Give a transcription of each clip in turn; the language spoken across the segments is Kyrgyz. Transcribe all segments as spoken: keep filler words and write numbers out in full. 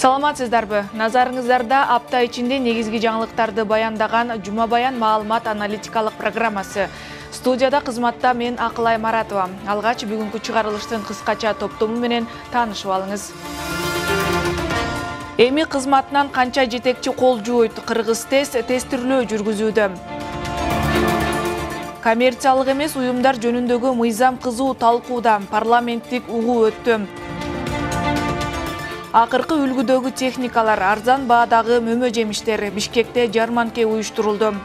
Саламатсыздарбы? Назарыңыздарда апта ичинде негизги жаңылыктарды баяндаган Жума Баян маалымат аналитикалык программасы. Студияда кызматта мен Акылай Маратова. Алгач бүгүнкү чыгарылыштын кыскача топтому менен таанышып алыңыз. Эми кызматынан канча жетекчи кол жууйт? Кыргыз тест тестирлөө жүргүзүүдө. Коммерциялык эмес уюмдар жөнүндөгү мыйзам кызуу талкууда. Парламенттик угуу өттү. Акыркы үлгүдөгү техникалар, арзан баадагы мөмө жемиштер. Бишкекте жарманке уюштурулду.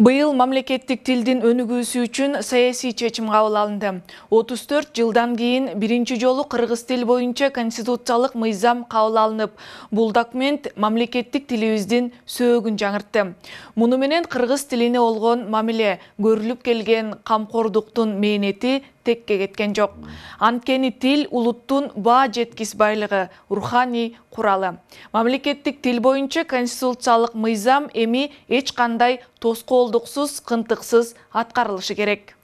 Быйыл мамлекеттик тилдин өнүгүүсү үчүн саясий чечим кабыл алынды. отуз төрт жылдан кийин биринчи жолу кыргыз тил боюнча конституциялык мыйзам кабыл алынып, бул документ мамлекеттик тилибиздин сөөгүн жаңыртты. Муну менен кыргыз тилине болгон мамиле, көрүлүп келген камкордуктун мээнети текке кеткен жок. Анткени тил улуттун баа жеткис байлыгы, руханий куралы. Мамлекеттик тил боюнча конституциялык мыйзам эми эч кандай тоскоолдуксуз, кынтыксыз аткарылышы керек.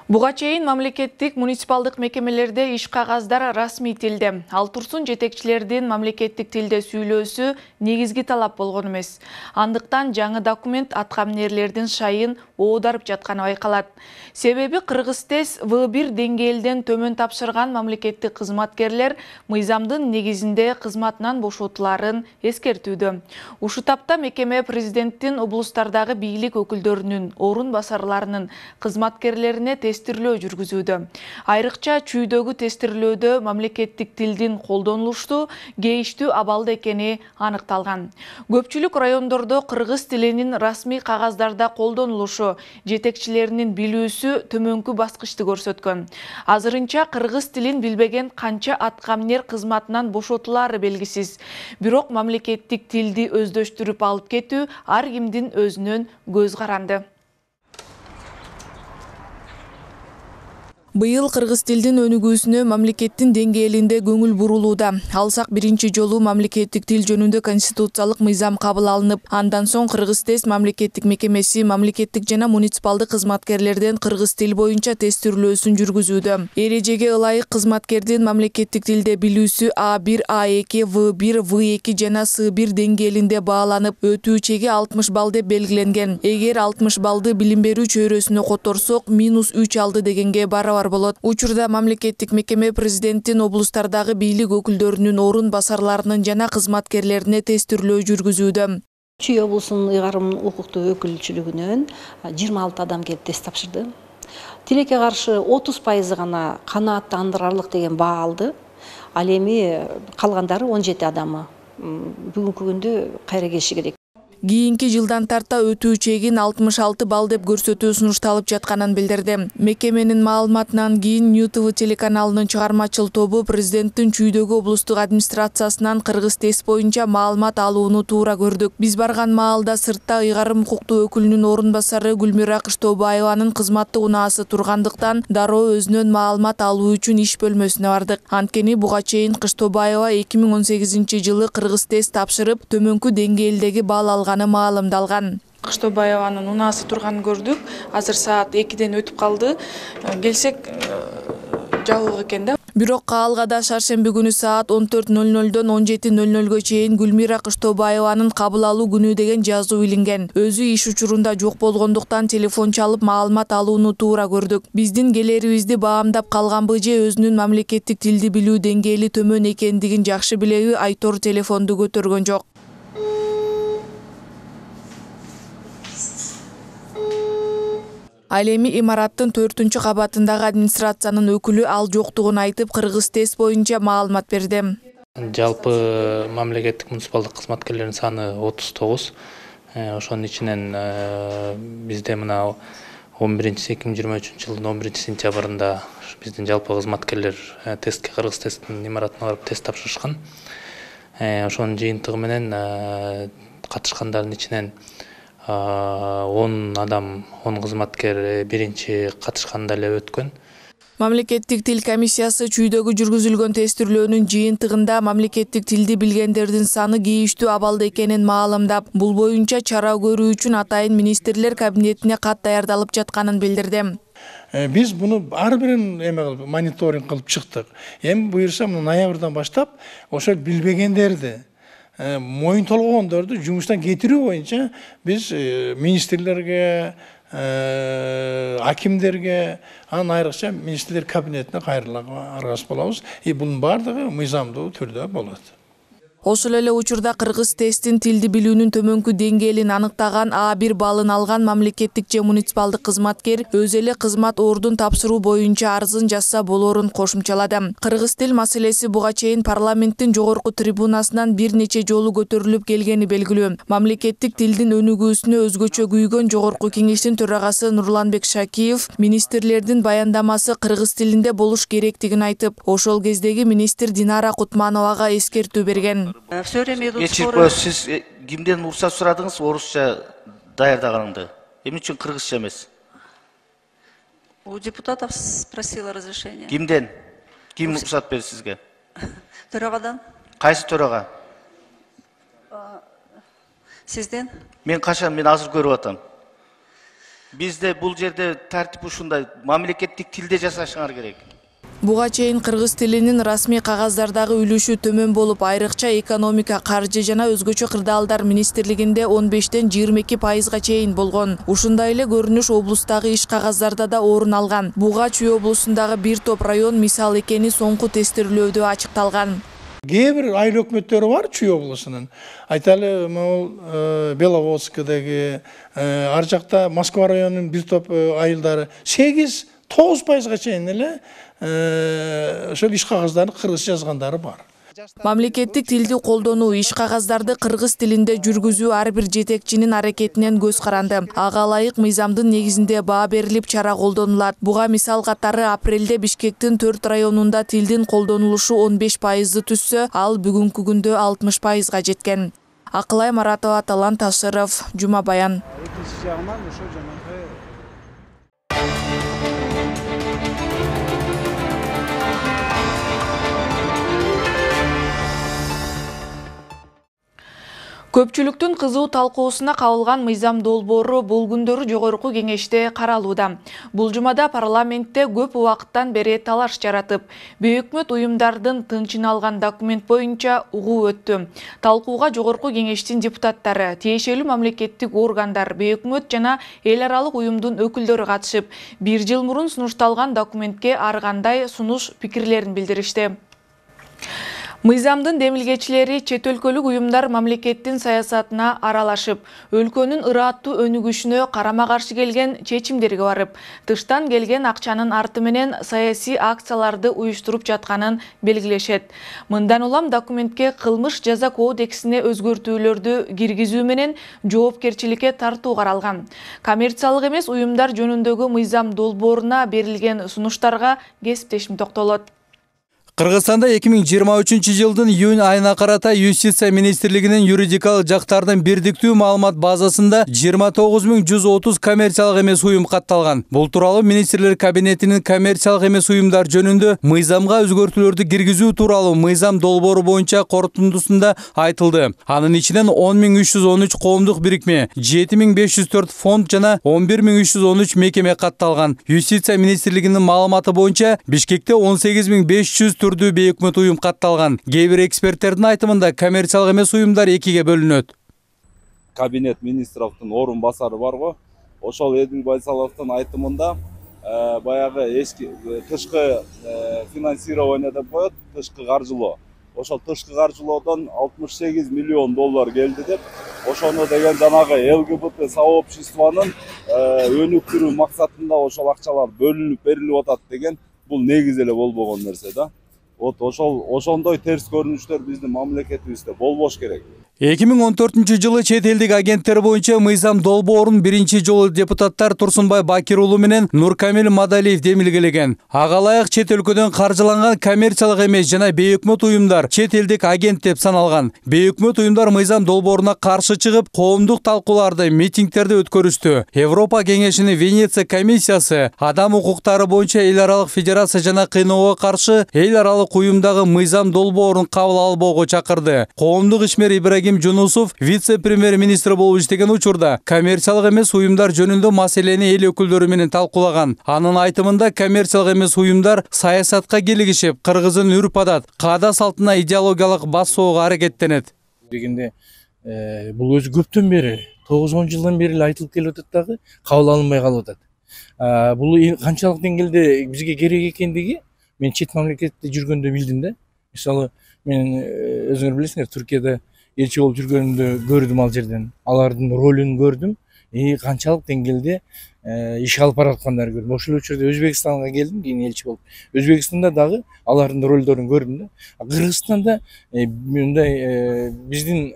Буга чейин мамлекеттик муниципалдык мекемелерде иш кагаздар расмий тилде. Ал турсун жетекчилердин мамлекеттик тилде сүйлөөсү негизги талап болгон эмес. Андыктан жаңы документ аткаминерлердин шайын оодарып жатканы байкалат. Себеби Кыргыз тест вэ бир деңгээлден төмөн тапшырган мамлекеттик кызматкерлер мыйзамдын негизинде кызматынан бошотуларын эскертүүдө. Ушу тапта мекеме президенттин облустардагы бийлик өкүлдөрүнүн, орун басарларынын кызматкерлерине тестирлөө жүргүзүүдө. Айрыкча чүйдөгү тестирлөөдө мамлекеттик тилдин колдонулуштуу, кейиштүү абалда экени аныкталган. Көпчүлүк райондордо кыргыз тилинин расмий кагаздарда колдонулушу, жетекчилеринин билүүсү төмөнкү баскычты көрсөткөн. Азырынча кыргыз тилин билбеген канча аткаминер кызматынан бошотулары белгисиз. Бирок мамлекеттик тилди өздөштүрүп алып кетүү ар кимдин өзүнөн көз каранды. Быйыл кыргыз тилдин өнүгүүсүнө мамлекеттин деңгээлинде көңүл бурулууда. Алсак биринчи жолу мамлекеттик тил жөнүндө конституциялык мыйзам кабыл алынып, андан соң Кыргыз тест мамлекеттик мекемеси мамлекеттик жана муниципалдык кызматкерлерден кыргыз тил боюнча тестирлөөсүн жүргүзүүдө. Эрежеге ылайык кызматкердин мамлекеттик тилде билүүсү А бир, А эки, вэ бир, вэ эки жана С бир деңгээлинде бааланып, өтүү чеги алтымыш балл деп белгиленген. Эгер алтымыш баллды билим берүү чөйрөсүнө которсок, минус үч алды дегенге барабар болот. Учурда мамлекеттик мекеме президенттин облустардагы бийлик өкүлдөрүнүн, орун басарларынын жана кызматкерлерине тестирлөө жүргүзүүдө. Чүй облусунун ыйгарым укуктуу өкүлчүлүгүнөн жыйырма алты адам келип тест тапшырды. Тилекке каршы отуз пайызы гана канааттандырарлык деген баа алды. Ал эми калгандары он жети адамы бүгүнкү күндө кайра келиши керек. Кийинки жылдан тарта өтүү чегин алтымыш алты балл деп көрсөтүү сунушталып жатканын билдирди. Мекеменин маалыматынан кийин Нью Т В телеканалынын чыгармачыл тобу президенттин чүйдөгү облустук администрациясынан кыргыз тест боюнча маалымат алууну туура көрдүк. Биз барган маалда сыртта ыйгарым укуктуу өкүлүнүн орун басары Гүлмира Кыштобаеванын кызматтык унаасы тургандыктан дароо өзүнөн маалымат алуу үчүн иш бөлмөсүнө бардык. Анткени буга чейин Кыштобаева эки миң он сегизинчи жылы кыргыз тест тапшырып, төмөнкү деңгээлдеги балл алган маалымдалган. Кыштобаеванын унаасы турганын көрдүк. Азыр саат экиден өтүп калды. Келсек жабык экен да. Бирок каалгада шаршемби күнү саат он төрт ноль нолдон он жети ноль нолго чейин Гүлмира Кыштобаеванын кабыл алуу күнү деген жазуу илинген. Өзү иш учурунда жок болгондуктан телефон чалып маалымат алууну туура көрдүк. Биздин келерибизди баамдап калганбы же өзүнүн мамлекеттик тилди билүү деңгээли төмөн экендигин жакшы билеби, Айтор телефонду көтөргөн жок. Ал эми имараттын төртүнчү кабатындагы администрациянын өкүлү ал жоктугун айтып, кыргыз тест боюнча маалымат берди. Жалпы мамлекеттик муниципалдык кызматкерлердин саны отуз тогуз. Ошонун ичинен бизде мына он биринчи эки миң жыйырма үчүнчү жылдын он биринчи сентябрында биздин жалпы кызматкерлер тестке кыргыз тесттин имаратына барып тест тапшырышкан. Ошонун жыйынтыгы менен катышкандардын ичинен он адам, он кызматкер биринчи катышканда эле өткөн. Мамлекеттик тил комиссиясы чүйдөгү жүргүзүлгөн тестирлөөнүн жыйынтыгында мамлекеттик тилди билгендердин саны кейиштүү абалда экенин маалымдап, бул боюнча чара көрүү үчүн атайын министрлер кабинетине кат даярдалып жатканын билдирди. Биз буну ар бирин эме кылып мониторинг кылып чыктык. Эми буюрса ноябрдан баштап ошол билбегендерди, моюн толгогондорду жумуштан кетирүү боюнча биз министрлерге, акимдерге, анан айрыкча министрлер кабинетине кайрылууга аргасыз болобуз. И бунун баардыгы мыйзамдуу түрдө болот. Ошол эле учурда кыргыз тесттин тилди билүүнүн төмөнкү деңгээлин аныктаган А бир баллын алган мамлекеттик же муниципалдык кызматкер өз эле кызмат ордун тапшыруу боюнча арызын жазса болоорун кошумчалады. Кыргыз тил маселеси буга чейин парламенттин жогорку трибунасынан бир нече жолу көтөрүлүп келгени белгилүү. Мамлекеттик тилдин өнүгүүсүнө өзгөчө күйгөн жогорку кеңештин төрагасы Нурланбек Шакиев министрлердин баяндамасы кыргыз тилинде болуш керектигин айтып, ошол кездеги министр Динара Кутмановага эскертүү берген. Все время идут споры. Сиз кимден уруксат сурадыңыз орусча даярдаганыңды? Эмне үчүн кыргызча эмес? У депутатов спросила разрешение. Кимден? Ким уруксат берди сизге? Төрагадан. Кайсы төрага? Сизден? Мен качан, мен азыр көрүп атам. Бизде бул жерде тартип ушундай, мамлекеттик тилде жасашыңар керек. Буга чейин кыргыз тилинин расмий кагаздардагы үлүшү төмөн болуп, айрыкча экономика, каржы жана өзгөчө кырдаалдар министрлигинде он бештен жыйырма эки пайызга чейин болгон. Ушундай эле көрүнүш облустагы иш кагаздарда да орун алган. Буга Чүй облусундагы бир топ район мисал экени соңку тестирлөөдө ачыкталган. Кээ бир айыл өкмөттөрү бар Чүй облусунун. Айталы, могул Беловодскдеги, ар жакта Москва районунун бир топ айылдары сегиз тогуз пайызга чейин эле ошол иш кагаздарын кыргызча жазгандары бар. Мамлекеттик тилди колдонуу, иш кагаздарды кыргыз тилинде жүргүзүү ар бир жетекчинин аракетинен көз каранды. Ага ылайык мыйзамдын негизинде баа берилип чара колдонулат. Буга мисал катары апрелде Бишкектин төрт районунда тилдин колдонулушу он беш пайызды түзсө, ал бүгүнкү күндө алтымыш пайызга жеткен. Акылай Маратова, Талант Ташыров, Жума Баян. Көпчүлүктүн кызуу талкуусуна кабылган мыйзам долбоору бул күндөрү жогорку кеңеште каралууда. Бул жумада парламентте көп убакыттан бери талаш жаратып, бейөкмөт уюмдардын тынчын алган документ боюнча угуу өттү. Талкууга жогорку кеңештин депутаттары, тиешелүү мамлекеттик органдар, бейөкмөт жана эл аралык уюмдун өкүлдөрү катышып, бир жыл мурун сунушталган документке ар кандай сунуш пикирлерин билдиришти. Мыйзамдын демилгечилери чет өлкөлүк уюмдар мамлекеттин саясатына аралашып, өлкөнүн ырааттуу өнүгүшүнө карама-каршы келген чечимдерге барып, тыштан келген акчанын арты менен саясий акцияларды уюштуруп жатканын белгилешет. Мындан улам документке кылмыш жаза кодексине өзгөртүүлөрдү киргизүү менен жоопкерчиликке тартуу каралган. Коммерциялык эмес уюмдар жөнүндөгү мыйзам долбооруна берилген сунуштарга кесиптешим токтолот. Кыргызстанда эки миң жыйырма үчүнчү жылдын июнь айына карата Юстиция министрлигинин юридикалык жактардын бирдиктүү маалымат базасында жыйырма тогуз миң жүз отуз коммерциялык эмес уюм катталган. Бул тууралуу министрлер кабинетинин коммерциялык эмес уюмдар жөнүндө мыйзамга өзгөртүүлөрдү киргизүү тууралуу мыйзам долбоору боюнча корутундусунда айтылды. Анын ичинен он миң үч жүз он үч коомдук бирикме, жети миң беш жүз төрт фонд жана он бир миң үч жүз он үч мекеме катталган. Юстиция министрлигинин маалыматы боюнча Бишкекте он сегиз миң беш жүз түрдүү бейөкмөт уюм катталган. Кээ бир эксперттердин айтымында коммерциялык эмес уюмдар экиге бөлүнөт. Кабинет министровдун орун басары барго, ошол Эдил Байсаловдун айтымында баягы эски тышкы финансирование деп коет, тышкы каржылоо. Ошол тышкы каржылоодон алтымыш сегиз миллион доллар келди деп, ошону деген жанагы ЛГБТ сообществонун өнүктүрүү максатында ошол акчалар бөлүнүп берилип атат деген бул негиз эле болбогон нерсе да. Вот ошол ошондой терс көрүнүштөр биздин мамлекетибизде болбош керек. эки миң он төртүнчү жылы чет элдик агенттер боюнча мыйзам долбоорун биринчи жолу депутаттар Турсунбай Бакир уулу менен Нуркамил Мадалиев демилгелеген. Ага ылайык чет өлкөдөн каржыланган коммерциялык эмес жана бейөкмөт уюмдар чет элдик агент деп саналган. Бейөкмөт уюмдар мыйзам долбооруна каршы чыгып, коомдук талкууларды, митингтерди өткөрүштү. Европа кеңешинин Венеция комиссиясы адам укуктары боюнча эл аралык федерация жана кыйноого каршы эл аралык уюмдагы мыйзам долбоорун кабыл албоого чакырды. Коомдук ишмер Ибрагим Жунусов вице-премьер-министр болуп иштеген учурда коммерциялык эмес уюмдар жөнүндө маселени эл өкүлдөрү менен талкуулаган. Анын айтымында коммерциялык эмес уюмдар саясатка келигишип, кыргыздын үрп-адат, каада салтына идеологиялык басууга аракеттенет. Дегенде бул өзү көптөн бери тогуз он жылдан бери эле айтылып келип атат дагы, кабыл алынбай калып атат. Бул канчалык деңгээлде бизге керек экендиги мен чет мамлекетте жүргөндө билдим да. Мисалы, мен өзүңөр билесиңер, Түркияда элчи болуп жүргөнүмдө көрдүм ал жерден. Алардын ролун көрдүм. И канчалык деңгээлде иш алып бараткандарын көрдүм. Ошол учурда Өзбекстанга келдим, кийин элчи болуп. Өзбекстанда дагы алардын ролдорун көрдүм да. Кыргызстанда мындай биздин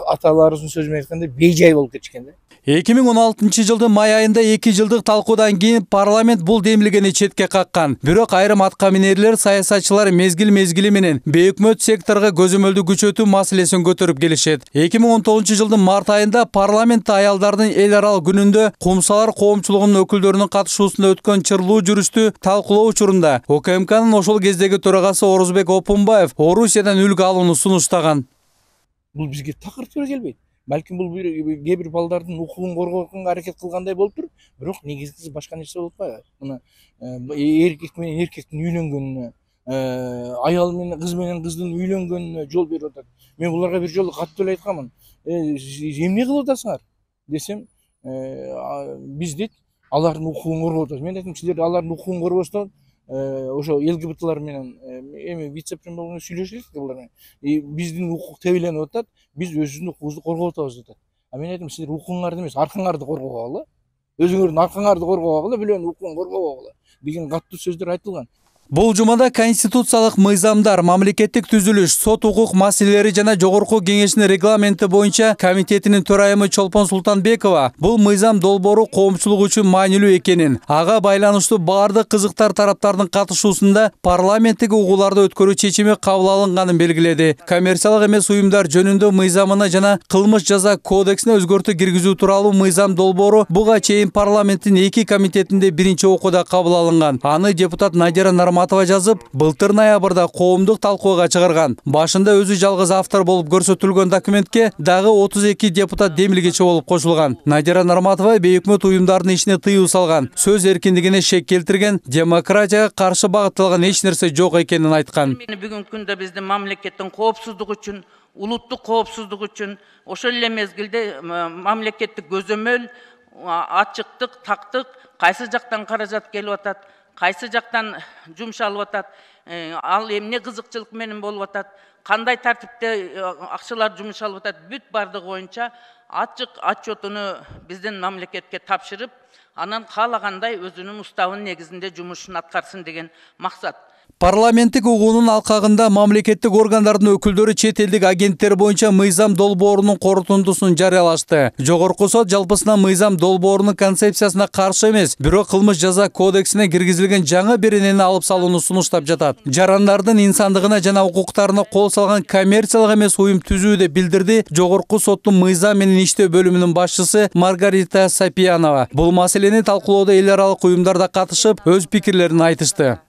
аталарыбыздын сөзү менен айтканда бейжай болуп кетишкен да. эки миң он алтынчы жылдын май айында эки жылдык талкуудан кийин парламент бул демилгени четке каккан. Бирок айрым атка минерлер, саясатчылар мезгил-мезгили менен бейөкмөт секторго көзөмөлдү күчөтүү маселесин көтөрүп келишет. эки миң он тогузунчу жылдын март айында парламентте аялдардын эл аралык күнүндө Кумсалар коомчулугунун өкүлдөрүнүн катышуусунда өткөн чырлуу жүрүштү талкуулоо учурунда ОКМКнын ошол кездеги төрагасы Орузбек Опунбаев Орусиядан үлгү алууну сунуштаган. Бул бизге такыр туура келбейт. Балким бул кээ бир балдардын укугун коргоого аракет кылгандай болуптур, бирок негизгиси башка нерсе болуп атпайбы? Мына эркек менен эркектин үйлөнгөнүнө, аял менен кыз менен кыздын үйлөнгөнүнө жол берип атат. Мен буларга бир жолу катуу эле айтканмын. Эмне кылып атасыңар десем, биз дейт, алардын укугун коргоп атабыз. Мен айттым, силер алардын укугун коргосоңор, ошо ЛГБТлар менен эми вице-премьер менен сүйлөшөлүк булар менен. Биздин укук тебеленип атат, биз өзүбүздүн укугубузду коргоп атабыз атат. А мен айттым, силер укугуңарды эмес, аркаңарды коргогула, өзүңөрдүн аркаңарды коргогула, бирөөнүн укугун коргобогула деген катуу сөздөр айтылган. Бул жумада конституциялык мыйзамдар, мамлекеттик түзүлүш, сот укук маселелери жана жогорку кеңештин регламенти боюнча комитетинин төрайымы Чолпон Султанбекова бул мыйзам долбоору коомчулук үчүн маанилүү экенин, ага байланыштуу баардык кызыктар тараптардын катышуусунда парламенттик угууларды өткөрүү чечими кабыл алынганын белгиледи. Коммерциялык эмес уюмдар жөнүндө мыйзамына жана кылмыш жаза кодексине өзгөртүү киргизүү тууралуу мыйзам долбоору буга чейин парламенттин эки комитетинде биринчи окууда кабыл алынган. Аны депутат Надира Матова жазып, былтыр ноябрда коомдук талкууга чыгарган. Башында өзү жалгыз автор болуп көрсөтүлгөн документке дагы отуз эки депутат демилгечи болуп кошулган. Надира Нарматова бейөкмөт уюмдардын ишине тыюу салган, сөз эркиндигине шек келтирген, демократияга каршы багытталган эч нерсе жок экенин айткан. Бүгүнкү күндө биздин мамлекеттин коопсуздугу үчүн, улуттук коопсуздук үчүн, ошол эле мезгилде мамлекеттик көзөмөл, ачыктык, тактык кайсы жактан каражат келип атат, кайсы жактан жумшалып атат, ал эмне кызыкчылык менен болуп атат, кандай тартипте акчалар жумшалып атат, бүт бардыгы боюнча ачык отчетуну биздин мамлекетке тапшырып, анан каалагандай өзүнүн уставынын негизинде жумушун аткарсын деген максат. Парламенттик угуунун алкагында мамлекеттик органдардын өкүлдөрү чет элдик агенттер боюнча мыйзам долбоорунун корутундусун жарыялашты. Жогорку сот жалпысынан мыйзам долбоорунун концепциясына каршы эмес, бирок кылмыш жаза кодексине киргизилген жаңы беренени алып салууну сунуштап жатат. Жарандардын инсандыгына жана укуктарына кол салган коммерциялык эмес уюм түзүү деп билдирди Жогорку соттун мыйзам менен иштөө бөлүмүнүн башчысы Маргарита Сапиянова. Бул маселени талкуулоодо эл аралык уюмдар да катышып, өз пикирлерин айтышты.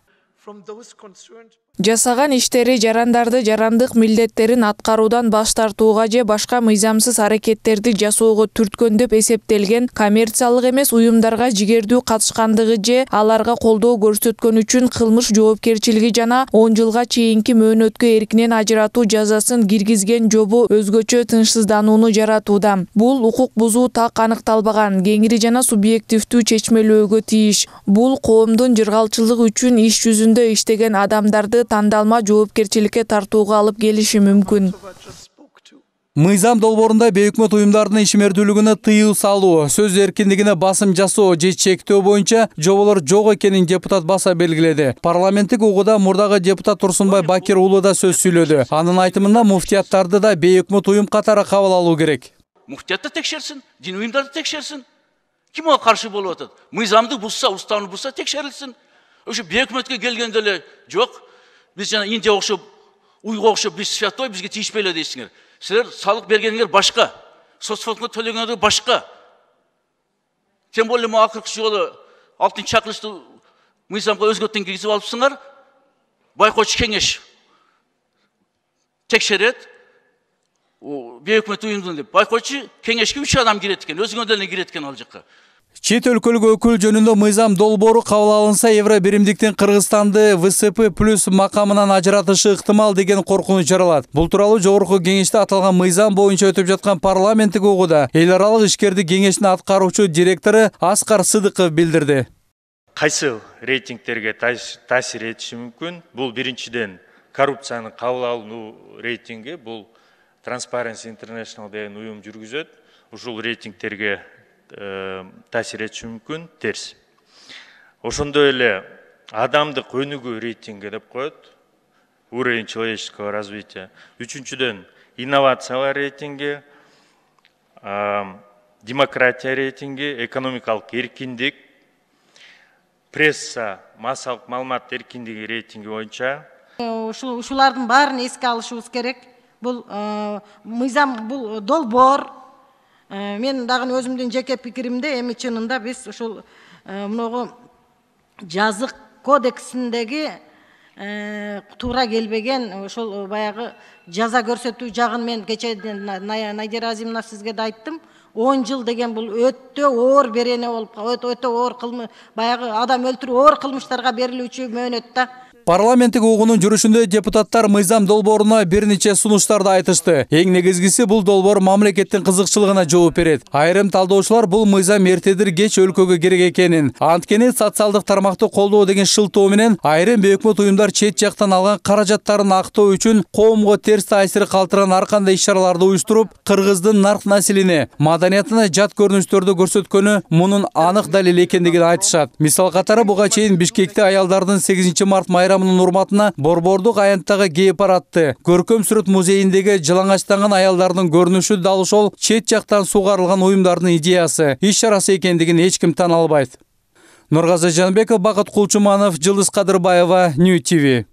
Жасаган иштери жарандарды жарандык милдеттерин аткаруудан баш тартууга же башка мыйзамсыз аракеттерди жасоого түрткөн деп эсептелген коммерциялык эмес уюмдарга жигердүү катышкандыгы же аларга колдоо көрсөткөн үчүн кылмыш жоопкерчилиги жана он жылга чейинки мөөнөткө эркинен ажыратуу жазасын киргизген жобо өзгөчө тынчсызданууну жаратууда. Бул укук бузуу так аныкталбаган, кеңири жана субъективдүү чечмелөөгө тийиш. Бул коомдун жыргалчылыгы үчүн иш жүзүндө иштеген адамдарды тандалма жоопкерчиликке тартууга алып келиши мүмкүн. Мыйзам долбоорунда бейөкмөт уюмдардын ишмердүүлүгүнө тыюу салуу, сөз эркиндигине басым жасоо же чектөө боюнча жоболор жок экенин депутат баса белгиледи. Парламенттик угууда мурдагы депутат Турсунбай Бакир уулу да сөз сүйлөдү. Анын айтымында муфтияттарды да бейөкмөт уюм катары кабыл алуу керек. Муфтиятты текшерсин, дин уюмдарды текшерсин. Ким ага каршы болуп атат? Мыйзамды бузса, уставны бузса текшерилсин. Ошо бейөкмөткө келгенде эле жок. Биз жана Индия окшоп, уйга окшоп биз святой, бизге тийишпей эле дейсиңер. Силер салык бергениңер башка, соцфондго төлөгөндөр башка. Тем более мо акыркы жолу алтынчы чакырышты мыйзамга өзгөртүн киргизип алыпсыңар. Байкоочу кеңеш текшерет. Бейөкмөт уюмдун деп. Байкоочу кеңешке үч адам кирет экен, өзүңөр деле кирет экен ал жакка. Чет өлкөлүк өкүл жөнүндө мыйзам долбоору кабыл алынса, Евро биримдиктин Кыргызстанды вэ эс пэ плюс макамынан ажыратышы ыктымал деген коркунуч жаралат. Бул тууралуу жогорку кеңеште аталган мыйзам боюнча өтүп жаткан парламенттик угууда эл аралык ишкердик кеңештин аткаруучу директору Аскар Сыдыков билдирди. Кайсы рейтингтерге таасир этиши мүмкүн? Бул биринчиден коррупцияны кабыл алуу рейтинги, бул Transparency International деген уюм жүргүзөт. Ушул рейтингтерге таасир этиши мүмкүн, терс. Ошондой эле адамдык өнүгүү рейтинги деп коет, уровень человеческого развития. Үчүнчүдөн инновациялар рейтинги, демократия рейтинги, экономикалык эркиндик, пресса, массалык маалымат эркиндиги рейтинги боюнча. Ушулардын баарын эске алышыбыз керек. Бул мыйзам, бул долбоор. Мен дагы өзүмдүн жеке пикиримде эми чынында биз ушул мыногу жазык кодексиндеги туура келбеген ошол баягы жаза көрсөтүү жагын мен кечээ Найдира Азимовна сизге да айттым. он жыл деген бул өтө оор берене болуп, өтө оор кылмыш, баягы адам өлтүрүү оор кылмыштарга берилүүчү мөөнөт да. Парламенттик угуунун жүрүшүндө депутаттар мыйзам долбооруна бир нече сунуштарды айтышты. Эң негизгиси бул долбоор мамлекеттин кызыкчылыгына жооп берет. Айрым талдоочулар бул мыйзам эртедир кеч өлкөгө керек экенин, анткени социалдык тармакты колдоо деген шылтоо менен айрым бейөкмөт уюмдар чет жактан алган каражаттарын актоо үчүн коомго терс таасир калтырган ар кандай иш-чараларды уюштуруп, кыргыздын нарк населине, маданиятына жат көрүнүштөрдү көрсөткөнү мунун анык далили экендигин айтышат. Мисал катары буга чейин Бишкекте аялдардын сегизинчи март майрамы урматына Борбордук аянттагы гей-парадты көркөм сүрөт музейиндеги жылаңачтанган аялдардын көрүнүшү дал ошол чет жактан сугарылган уюмдардын идеясы, иш-чарасы экендигин эч ким тана албайт. Нургазы Жанбеков, Бакыт Кулчуманов, Жылдыз Кадырбаева, Нью ти ви.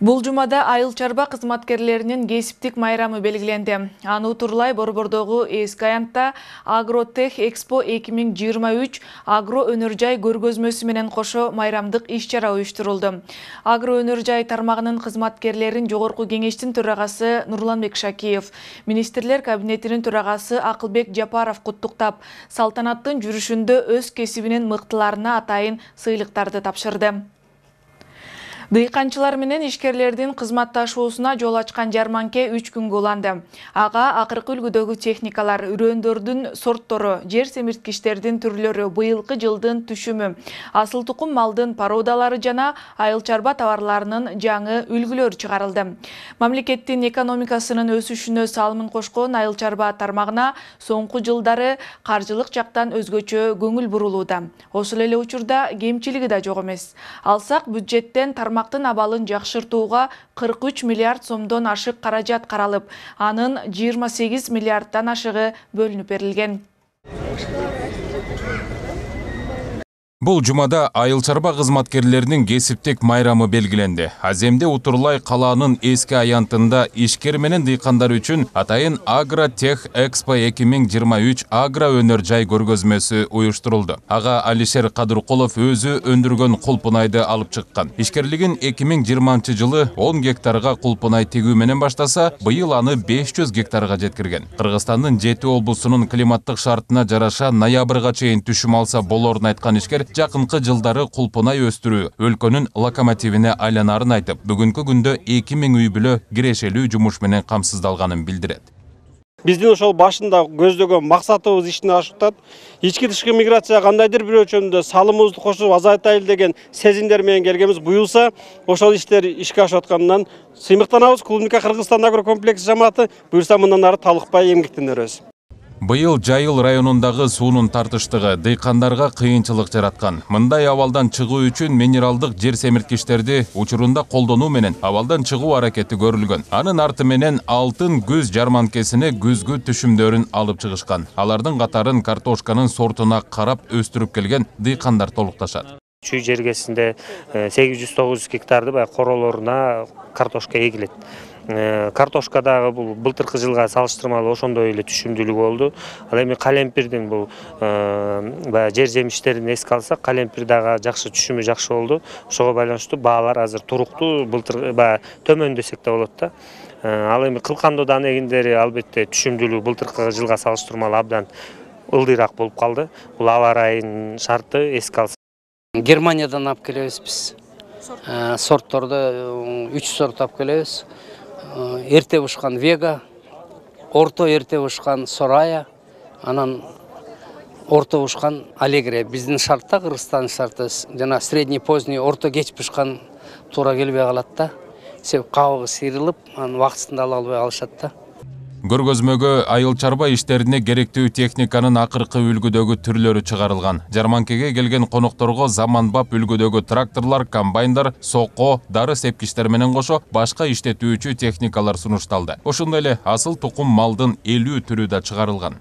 Бул жумада айыл чарба кызматкерлеринин кесиптик майрамы белгиленди. Аны утурлай Борбордогу эски аянтта Агротех Экспо эки миң жыйырма үч агро өнөр жай көргөзмөсү менен кошо майрамдык иш-чара уюштурулду. Агро өнөр жай тармагынын кызматкерлерин жогорку кеңештин төрагасы Нурланбек Шакиев, министрлер кабинетинин төрагасы Акылбек Жапаров куттуктап, салтанаттын жүрүшүндө өз кесибинин мыктыларына атайын сыйлыктарды тапшырды. Дыйканчылар менен ишкерлердин кызматташуусуна жол ачкан жарманке үч күнгө уланды. Ага акыркы үлгүдөгү техникалар, үрөндөрдүн сорттору, жер семирткичтердин түрлөрү, быйылкы жылдын түшүмү, асыл тукум малдын породалары жана айыл чарба товарларынын жаңы үлгүлөрү чыгарылды. Мамлекеттин экономикасынын өсүшүнө салымын кошкон айыл чарба тармагына соңку жылдары каржылык жактан өзгөчө көңүл бурулууда. Ошол эле учурда кемчилиги да жок эмес. Алсак бюджеттен тармак абалын жакшыртууга кырк үч миллиард сомдон ашык каражат каралып, анын жыйырма сегиз миллиарддан ашыгы бөлүнүп берилген. Бул жумада айыл чарба кызматкерлеринин кесиптик майрамы белгиленди. Аземде утурлай калаанын эски аянтында ишкер менен дыйкандар үчүн атайын Агротех Экспо эки миң жыйырма үч агро өнөр жай көргөзмөсү уюштурулду. Ага Алишер Кадыркулов өзү өндүргөн кулпунайды алып чыккан. Ишкерлигин эки миң жыйырманчы жылы он гектарга кулпунай тегүү менен баштаса, быйыл аны беш жүз гектарга жеткирген. Кыргызстандын жети облусунун климаттык шартына жараша ноябрга чейин түшүм алса болорун айткан ишкер жакынкы жылдары кулпунай өстүрүү өлкөнүн локомотивине айланарын айтып, бүгүнкү күндө эки миң үй бүлө кирешелүү жумуш менен камсыздалганын билдирет. Биздин ошол башында көздөгөн максатыбыз ишине ашыктат. Ички тышкы миграция кандайдыр бир өлчөмдө салымыбызды кошуп азайтайлы деген сезимдер менен келгенбиз. Буюлса ошол иштер ишке ашып аткандан сыймыктанабыз. Клубника Кыргызстан агрокомплекс жамааты буюрса мындан ары талыкпай эмгектенербиз. Быйыл Жайыл районундагы суунун тартыштыгы дыйкандарга кыйынчылык жараткан. Мындай абалдан чыгуу үчүн минералдык жер семирткичтерди учурунда колдонуу менен абалдан чыгуу аракети көрүлгөн. Анын арты менен алтын күз жарманкесине күзгү түшүмдөрүн алып чыгышкан. Алардын катарын картошканын сортуна карап өстүрүп келген дыйкандар толукташат. Чүй жергесинде сегиз жүз тогуз жүз гектарды бай королоруна картошка эгилет. Картошкадагы бул былтыркы жылга салыштырмалуу ошондой эле түшүмдүүлүк болду. Ал эми калемпирдин бул баягы жер жемиштерин эске алсак, калемпир дагы жакшы түшүмү жакшы болду. Ошого байланыштуу баалар азыр туруктуу, былтыр баягы төмөн десек да болот да. Ал эми кылкандоо дан эгиндери албетте түшүмдүүлүгү былтыркы жылга салыштырмалуу абдан ылдыйраак болуп калды. Бул аба ырайынын шарты эске алсак. Германиядан алып келебиз биз. Сортторду үч сорт алып келебиз. Эрте бышкан Вега, орто эрте бышкан Сорая, анан орто бышкан Алегрия. Биздин шартта, Кыргызстан шарты жана средний поздний орто кеч бышкан туура келбей калат да. Себеп кабыгы сыйрылып, анын убактысында ала албай калышат да. Көргөзмөгө айыл чарба иштерине керектүү техниканын акыркы үлгүдөгү түрлөрү чыгарылган. Жарманкеге келген конокторго заманбап үлгүдөгү тракторлор, комбайндар, соко, дары сепкичтер менен кошо башка иштетүүчү техникалар сунушталды. Ошондой эле асыл тукум малдын элүү түрү да чыгарылган.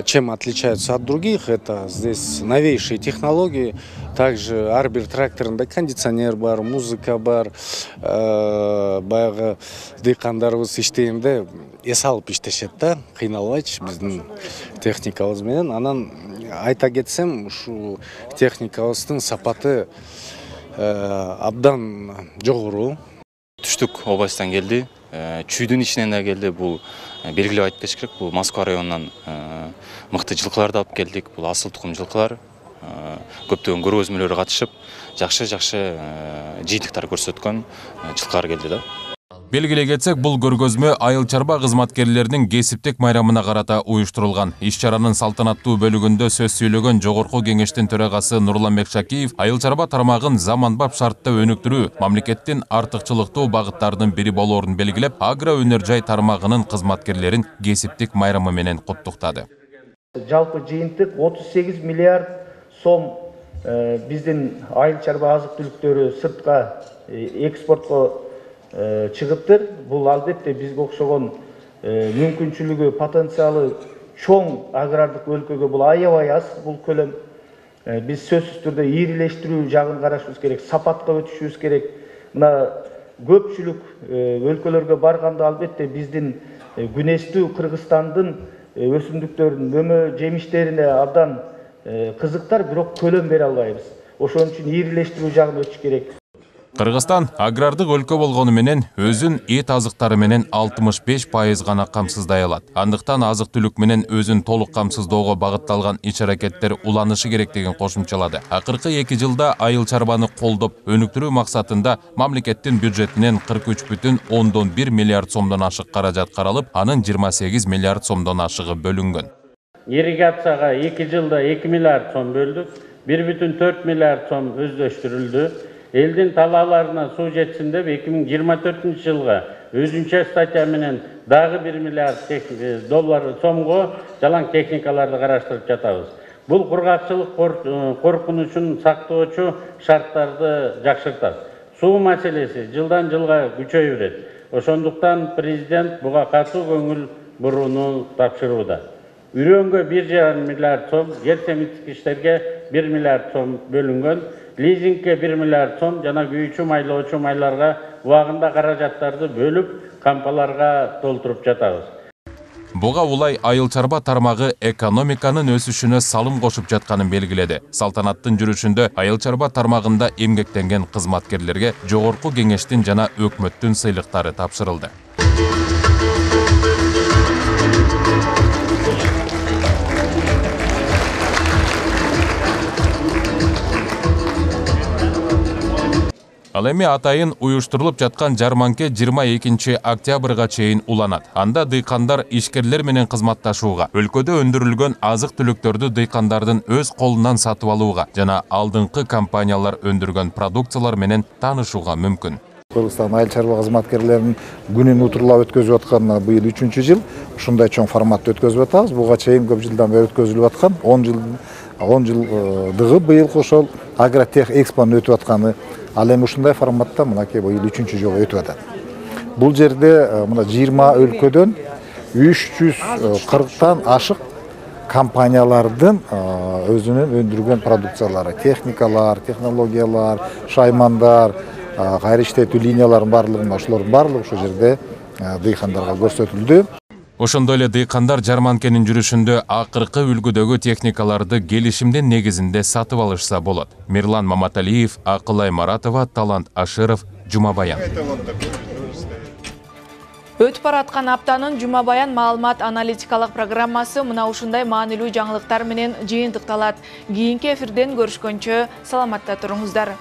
Чем отличаются от других, это здесь новейшие технологии. Также ар бир тракторында кондиционер бар, музыка бар. Баягы дыйкандарыбыз иштегенде эс алып иштешет да, кыйналбайчы биздин техникабыз менен. Анан айта кетсем, ушул техникабыздын сапаты абдан жогору. Түштүк областан келди, чүйдүн ичинен да келди. Бул белгилеп айтып кетиш керек. Бул Москва районунан мыкты жылкыларды алып келдик. Бул асыл тукум жылкылар. Көптөгөн көргөзмөлөргө катышып, жакшы-жакшы жыйынтыктар көрсөткөн жылкылар келди да. Белгилей кетсек, бул көргөзмө айыл чарба кызматкерлеринин кесиптик майрамына карата уюштурулган. Иш-чаранын салтанаттуу бөлүгүндө сөз сүйлөгөн Жогорку кеңештин төрагасы Нурланбек Шакиев айыл чарба тармагын заманбап шартта өнүктүрүү мамлекеттин артыкчылыктуу багыттарынын бири болоорун белгилеп, агро өнөр жай тармагынын кызматкерлерин кесиптик майрамы менен куттуктады. Жалпы жыйынтык отуз сегиз миллиард сом биздин айыл чарба азык түлүктөрү сыртка экспортко чыгыптыр. Бул албетте бизге окшогон мүмкүнчүлүгү, потенциалы чоң агрардык өлкөгө бул аябай аз бул көлөм. Биз сөзсүз түрдө ийрилештирүү жагын карашыбыз керек, сапатка өтүшүбүз керек. Мына көпчүлүк өлкөлөргө барганда албетте биздин күнөстүү Кыргызстандын өсүмдүктөрүнүн мөмө жемиштерине абдан кызыктар, бирок көлөм бере албайбыз. Ошон үчүн ийрилештирүү жагын өтүш керек. Кыргызстан агрардык өлкө болгону менен өзүн эт азыктары менен алтымыш беш пайыз гана камсыздай алат. Андыктан азык-түлүк менен өзүн толук камсыздоого багытталган иш-аракеттер уланышы керек деген кошумчалады. Акыркы эки жылда айыл чарбаны колдоп, өнүктүрүү максатында мамлекеттин бюджетинен кырк үч бүтүн ондон бир миллиард сомдон ашык каражат каралып, анын жыйырма сегиз миллиард сомдон ашыгы бөлүнгөн. Ирригацияга эки жылда эки миллиард сом бөлдүк, бир бүтүн төрт миллиард сом өздөштүрүлдү. Элдин талааларына суу жетсин деп эки миң жыйырма төртүнчү жылга өзүнчө статья менен дагы бир миллиард доллар сомго жалаң техникаларды караштырып жатабыз. Бул кургакчылык коркунучун сактоочу шарттарды жакшыртат. Суу маселеси жылдан жылга күчөй берет. Ошондуктан президент буга катуу көңүл бурууну тапшырууда. Үрөнгө бир жарым миллиард сом, жер семирткичтерге бир миллиард сом бөлүнгөн. Лизингке бир миллиард сом жана күйүүчү майлоочу майларга убагында каражаттарды бөлүп, кампаларга толтуруп жатабыз. Буга улай айыл чарба тармагы экономиканын өсүшүнө салым кошуп жатканын белгиледи. Салтанаттын жүрүшүндө айыл чарба тармагында эмгектенген кызматкерлерге Жогорку кеңештин жана өкмөттүн сыйлыктары тапшырылды. Ал эми атайын уюштурулуп жаткан жарманке жыйырма экинчи октябрга чейин уланат. Анда дыйкандар ишкерлер менен кызматташууга, өлкөдө өндүрүлгөн азык-түлүктөрдү дыйкандардын өз колунан сатып алууга жана алдыңкы компаниялар өндүргөн продукциялар менен таанышууга мүмкүн. Кыргызстан айыл чарба кызматкерлеринин күнүн утурлап өткөзүп атканына быйыл үчүнчү жыл. Ушундай чоң форматта өткөзүп атабыз. Буга чейин көп жылдан бери өткөзүлүп аткан он жыл он жылдыгы быйылкы ошол Агротех экспонун өтүп атканы. Ал эми ушундай форматта мынакей быйыл үчүнчү жолу өтүп атат. Бул жерде мына жыйырма өлкөдөн үч жүз кырктан ашык компаниялардын өзүнүн өндүргөн продукциялары, техникалар, технологиялар, шаймандар, кайра иштетүү линияларынын барлыгын, ошолордун барлыгы ошол жерде дыйкандарга көрсөтүлдү. Ошондой эле дыйкандар жарманкенин жүрүшүндө акыркы үлгүдөгү техникаларды келишимдин негизинде сатып алышса болот. Мирлан Маматалиев, Акылай Маратова, Талант Ашыров, Жума Баян. Өтүп бараткан аптанын Жума Баян маалымат аналитикалык программасы мына ушундай маанилүү жаңылыктар менен жыйынтыкталат. Кийинки эфирден көрүшкөнчө саламатта туруңуздар.